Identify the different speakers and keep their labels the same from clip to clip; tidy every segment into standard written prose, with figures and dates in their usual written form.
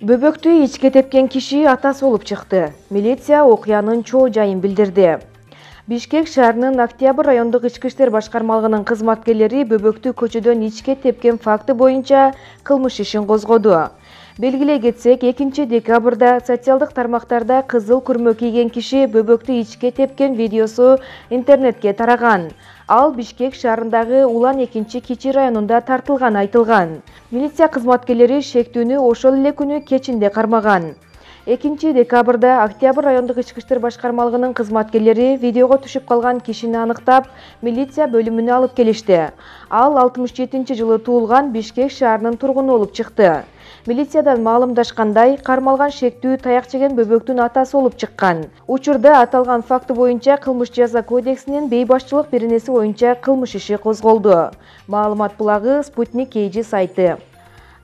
Speaker 1: Бөбөктү ичке тепкен киши атасы болуп чыкты. Милиция окуянын чоо жайын билдирди. Бишкек шаарынын Октябрь райондук ички иштер башкармалыгынын кызматкерлери бөбөктү көчөдөн ичке тепкен факты боюнча кылмыш ишин козгоду. Белгилей кетсек, 2 декабрда социалдык тармактарда кызыл күрмө кийген киши бөбөктү ичке тепкен видеосу интернетке тараган. Ал Бишкек шаарындагы Улан 2-Кичи районунда тартылганы айтылган. Милиция кызматкерлери шектүүнү ошол эле күнү кечинде кармаган. 2 декабрда Октябрь райондук ички иштер башкармалыгынын кызматкерлери видеого түшүп калган кишини аныктап, милиция бөлүмүнө алып келишти. Ал 67-жылы туулган Бишкек шаарынын тургуну болуп чыкты. Милициядан маалымдашкандай, кармалган шектүү таяк жеген бөбөктүн атасы болуп чыккан. Учурда аталган факты боюнча кылмыш жаза кодексинин бейбашчылык беренеси боюнча кылмыш иши козголду. Маалымат булагы Спутник KG сайты.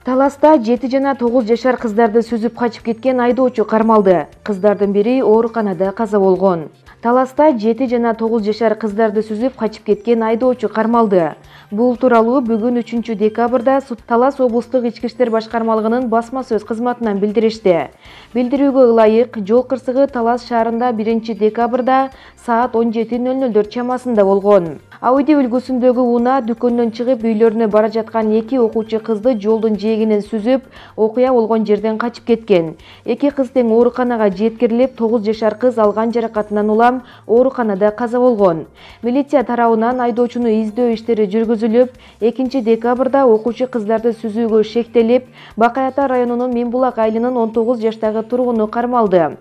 Speaker 1: Таласта 7 жана 9 жашар кыздарды сүзүп качып кеткен айдоочу кармалды. Кыздардын бири ооруканада каза болгон. Таласта 7 жана 9 жашар кыздарды сүзүп качып кеткен айдоочу кармалды. Бул тууралуу бүгүн 3 декабрда Талас облустук ички иштер башкармалыгынын басма сөз кызматынан билдиришти. Билдирүүгө ылайык, жол кырсыгы Талас шаарында 1 декабрда саат 17:00 чамасында болгон. Ауди үлгүсүндөгү унаа дүкөндөн чыгып үйлөрүнө бара жаткан 2 окуучу кызды жолдун жээгинен сүзүп, окуя болгон жерден качып кеткен. 2 кыз тең ооруканага жеткирилип, 9 жашар кыз алган жаракатынан улам ооруканада каза болгон. Милиция тарабынан айдоочуну издөө иштери жүргүзүлүп, 2 декабрда окуучу кыздарды сүзүүгө шектелип, Бакай Ата районунун Миңбулак айылынын 19 жаштагы тургуну кармалды.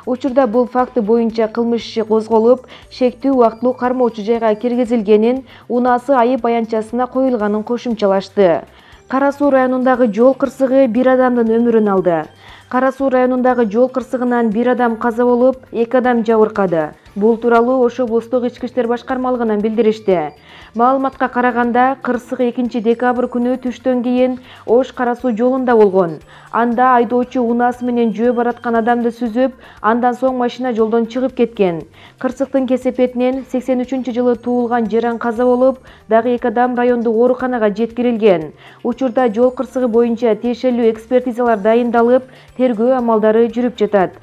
Speaker 1: Учурда бул факты боюнча кылмыш иши козголуп, шектүү убактылуу кармоочу жайга киргизилгенин, унаасы айып баянчасына коюлганын кошумчалашты. Кара Суу районундагы жол кырсыгы 1 адамдын өмүрүн алды. Кара Суу районундагы жол кырсыгынан 1 адам каза болуп, 2 адам жабыркады. Бул тууралуу Ош облустук ички иштер башкармалыгынан билдиришти. Маалыматка караганда, кырсык 2 декабрь күнү түштөн кийин Ош Кара Суу жолунда болгон. Анда айдоочу унаасы менен жөө бараткан адамды сүзүп, андан соң машина жолдон чыгып кеткен. Кырсыктын кесепетинен 83-жылы туулган жаран каза болуп, дагы 2 адам райондук ооруканага жеткирилген. Учурда жол кырсыгы боюнча тиешелүү экспертизалар дайындалып, тергөө амалдары жүрүп жатат.